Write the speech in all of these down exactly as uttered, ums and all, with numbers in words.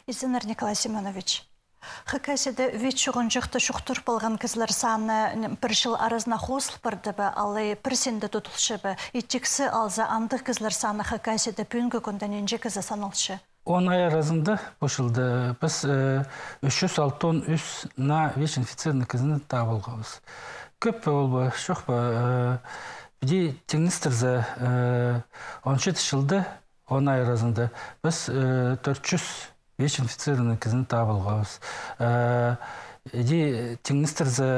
Изенер Николай Семенович. Хакасиде ВИЧ жұғынжықты шуқтыр болған кізлер саны бір жыл аразына қосыл барды бі, алай персенді тұтылшы бі. Иттіксі алза андық кізлер саны Хакасиде пүнгі күнден енже кізі санылшы. Он ай арасында бұшылды. Біз үш жүз алтын үш на ВИЧ инфицированный кізіні табылғауыз. Көп ол ба, шоқ ба, біде теңістірзі он жеті жылды он ай арасында біз төрт жүз ВИЧ инфицированный кізіні табылғауыз. Еде теңістірзі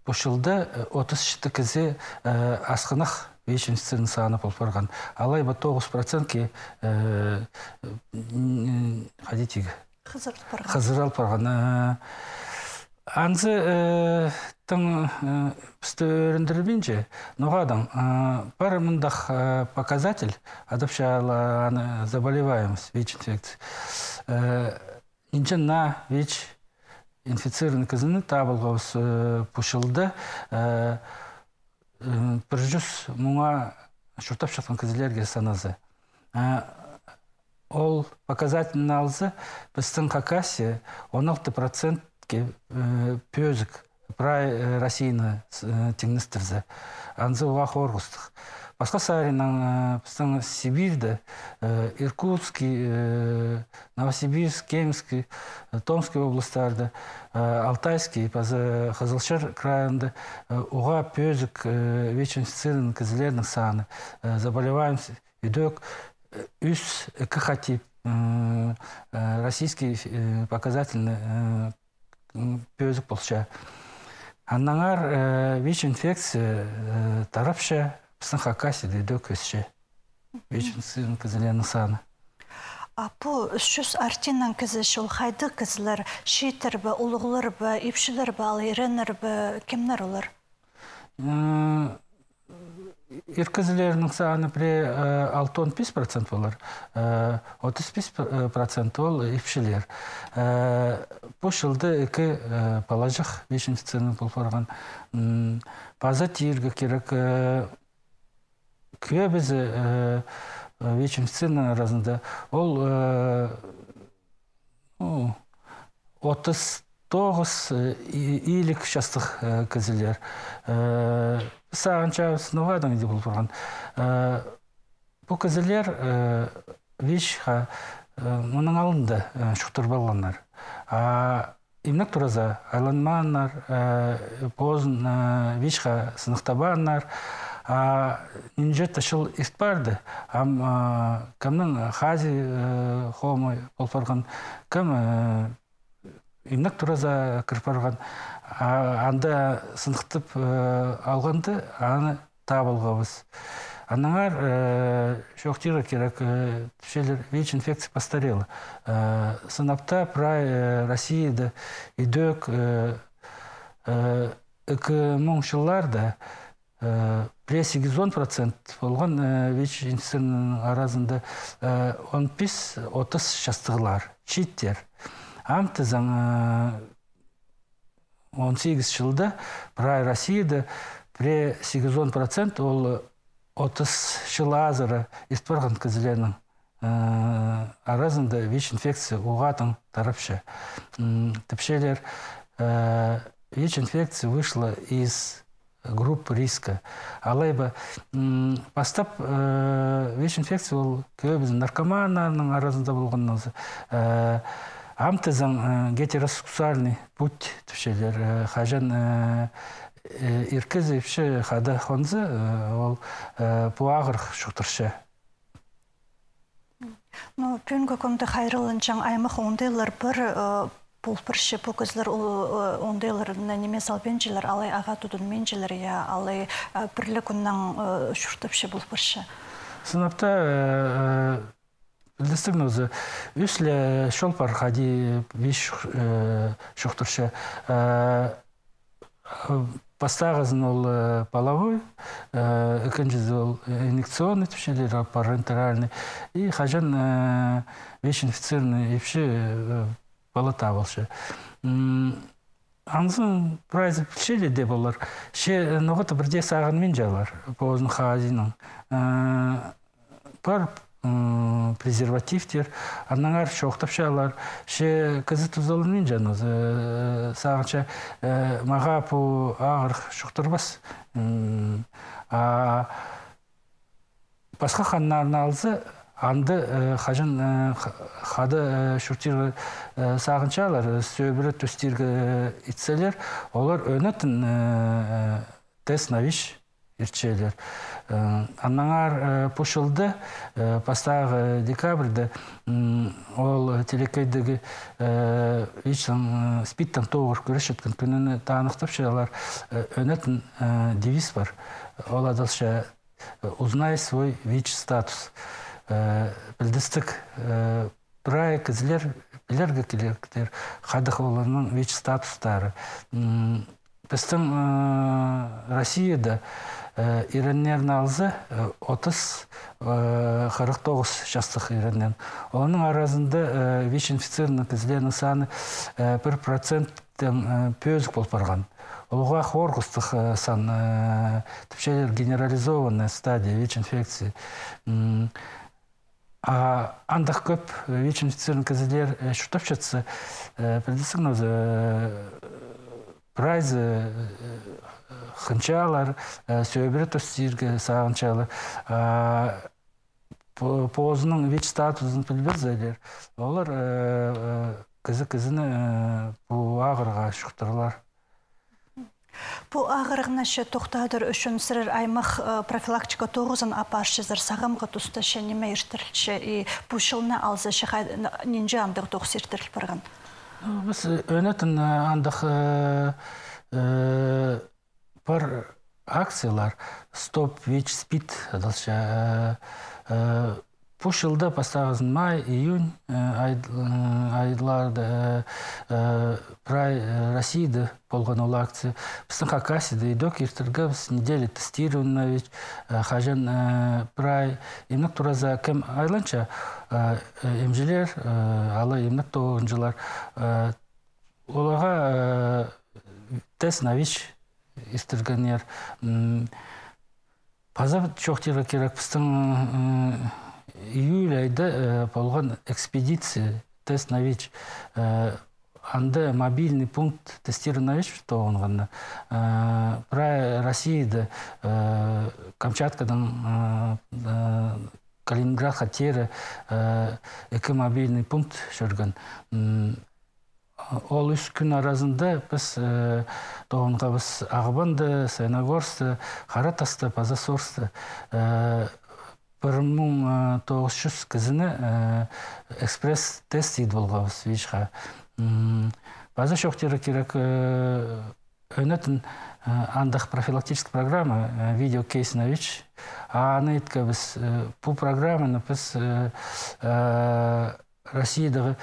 бұшылды отыз жеті кізі асқынақ ВИЧ инфицированный саны болып барған. Алай ба тоғыз процентке қызырал барған. Анзы тың пісті өріндірбенже, ноғадан бар мұндақ показатель адапшалы заболеваемость ВИЧ инфекции. Инчен на ВИЧ инфицированный кізіні табылғауыз бұшылды. бір жүз мұңа шұртап шыққан кізілерге саназы. Ол показательный алзы біздің Хакасия он алты процентке пөзік прай Россияны теңістірзі. Анзы оға қорғыстық. Басқа саринан біздің Сибирьді, Иркутский, Новосибирск, Кемский, Томский облыстарды, Алтайский, Қызылшыр крайында оға пөзік ВИЧ инфицированный кізілердің саны. Заболеваемость үйдек үш екі хатип российский показательный пөзік болша. Аннаңар ВИЧ инфекция тарапша біздің Хакасиде үйдек өсше. ВИЧ инфицированный кізілердің саны. Апу үш жүз артинан кізі шыл қайды кізілер, шейтір бі, ұлығылыр бі, епшілер бі, ал еренер бі, кемнер олар? Еркізілерінің саны біре алты он бес процент болар, отыз бес процент ол епшілер. Бұл жылды екі балажық ВИЧ инфицированный болып барған. База тиіргі керек көе бізі ВИЧ инфицированный арасында ол отыз тоғыз иілік жастық кізілер. Сағанша сынуғадан еді болып тұрған. Бұл кізілер ВИЧ-ға мұның алынды шұқтыр балғанлар. Имнік тұраза айланманлар, позын ВИЧ-ға сынықтабанлар, Нинжет ашыл испарды, ам кімнің хази хомы болпарған, кім имнік тұраза кірпарған, анда сынықтып алғанды, аны табылғабыз. Анаңар шоқтира керек түшелер ВИЧ инфекция постарелы. Сынапта прай Россияда идек үкі мұң жылларда Пре сегиз процент болған ВИЧ инфекцияның арасында он бес отыз жастығылар, читтер. Амтызан он сегиз жылда прай Россияда пре сегиз процент ол отыз жыл азыры испарған кізілерінің арасында ВИЧ инфекция уғатын тарапшы. Тіпшелер ВИЧ инфекция вышла из группы риска. Алайба постап ВИЧ инфекция ол көбізін наркоманның арасында болғаннан амтызан гетеросексуальный путь түшелер. Хажан иркіз епші қады қонзы ол пуағыр шұқтыршы. Пүнгі көмді қайрылынчан аймақ ондайлар бір бұл бірші пөкізлер ондайлар немес албенжілер, алай аға тұдын менжілер, алай бірлі күннің шүртіпші бұл бірші. Сынапта білдістігін өзі үслі шол бар қади виш шұқтыршы. Постағызын ол половой, екіншізі ол инъекционный түшелер, парентеральный. И қажан виш инфицированный епші бала табылшы. Анзын прайзы пішелі де болар. Ше ноғыты бірде сағын мен жалар, позын қазының. Бар презервативтер, аннаңар шоқтапшалар, ше кызы тұзалының жаныз, сағынша маға бұ ағыр шоқтырбас. Басқа қаннарын алзы, анды қажын қады шүртер сағыншалар, сөбірі төстергі итселер, олар өнетін тест навиш ирчелер. Аннаңар пошылды, пастағы декабрьді ол телекайдығы спиттан тоғыр көрішеткен күніні тағынықтапшылар өнетін девиз бар. Ол адалша «Узнай свой ВИЧ-статус». Білдістік бірай кізілер, білергі келеріктер қадық оларының ВИЧ-статустары. Біздің Россияда иреннерін алзы отыз қырық тоғыз жастық иреннен. Оның аразында ВИЧ-инфицированный кізілерінің саны бір проценттен пөзік болып барған. Олға хорғыстық сан, тіпшелер генерализованная стадия ВИЧ-инфекции. Андық көп ВИЧ-инфицированный кізілер шүртап жатса, білдесің өзі прайзы қынчалар, сөйбірі төстерге сағынчалар, позының ВИЧ-статусын білбезелер. Олар кізі-кізіні бұл ағырға шықтырылар. Бұл ағырығына ше тоқтадыр үшін сірір аймақ профилактика тоғызын апаршызыр сағымға тұста ше неме ертірілші и бұл шылына алзы ше ненже андық тоғыз ертіріл барған? Біз өнетін андық бар акциялар «Стоп ВИЧ-СПИД» адалша. Бұл жылда бастағызын май, июнь айларды прай Россияда болған ол акция. Біздің Хакасияда идок ертіргі біз неделі тестированный ВИЧ, қажан прай емнік тураза кем айланша емжелер, алы емнік тоғынжылар. Олаға тест на ВИЧ естіргенер. Паза чоқтері керек біздің июль айда болған экспедиция тест на ВИЧ. Анда мобильный пункт тестирования на ВИЧ тоғынғанда. Прай Россияда, Камчаткадан Калининград хатері екі мобильный пункт жүрген. Ол үш күн арасында біз тоғынға біз Ағыбанды, Саяногорсты, Қаратасты, Пазасорсты бір мың тоғыз жүз кізіні экспресс-тест еді болғабыз ВИЧ-ға. База шоқтері керек өнетін андық профилактическая программа видео-кейс на ВИЧ. Аны еткі біз бұл программаны біз Россиядағы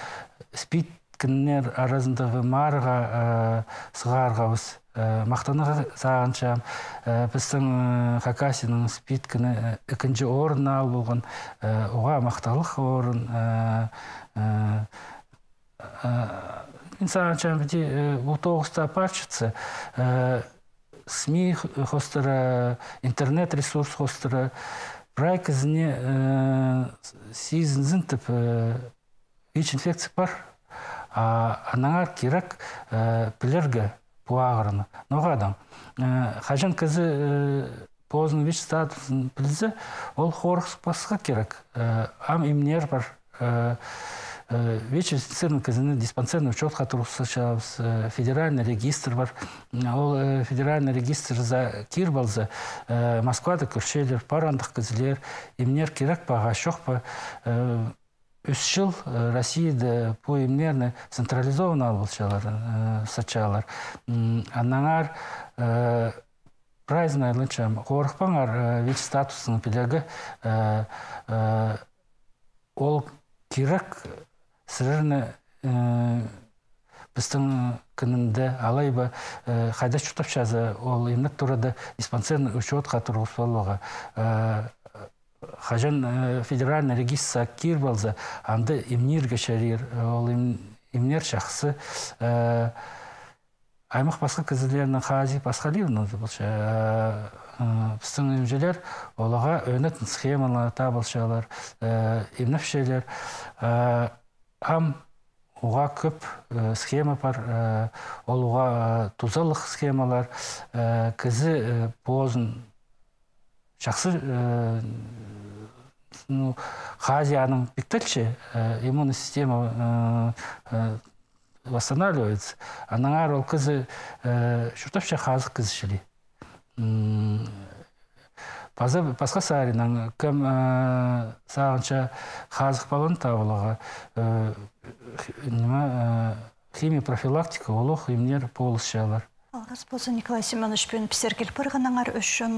спид күннер арасындағы марыға сығарғабыз. Мақтаныға сағаншам, біздің Хакасияның спид күні үкінші орын ал болған, оға мақталық орын. Сағаншам біде бұл тоғызда апарчыцы, СМИ хостыры, интернет-ресурс хостыры, прай кізіне сезінзін тіп ВИЧ-инфекция бар. Анаңар керек білерге бұағырыны. Ноғадам, қажан кізі позын ВИЧ-статусын білізі, ол қорықсы басқа керек. Ам имнер бар. ВИЧ-инфицированный кізіні диспансерный учет қатырғысы шабыз, федеральный регистр бар. Ол федеральный регистр за кир балзы, Москвада көршелер, парандық кізілер, имнер керек баға шоқ ба. Үш жыл Россияда по имнерны централизованный албылшалар, сачалар. Аннаңар прайзын айлыншам, қорықпаңар ВИЧ-статусының пілегі ол керек сірірні біздің күнінде алайба қайда жұтап жазы, ол емнік тұрады диспансерный учет қатырғыз болуға. Хажан федеральный регистр кир балза, анда имнирге шарир, ол имнер шақсы. Аймақ басқа кізілерінің қази басқа левін, Біздің өмжелер олаға өнетін схемалар, табылшалар, емнәпшелер. Ам оға көп схема бар, ол оға тузалық схемалар, кізі бозын жақсы Хазияның биктельче иммунная система восстанавливается. Она рол кызы шуртапча хазык кызышли. Пасқа саринан кем сағынша хазык балын табылыға химия профилактика олық емнер полысшалар. Алғыз болса Николай Семенович пен пісергел бір ғанаңар үшін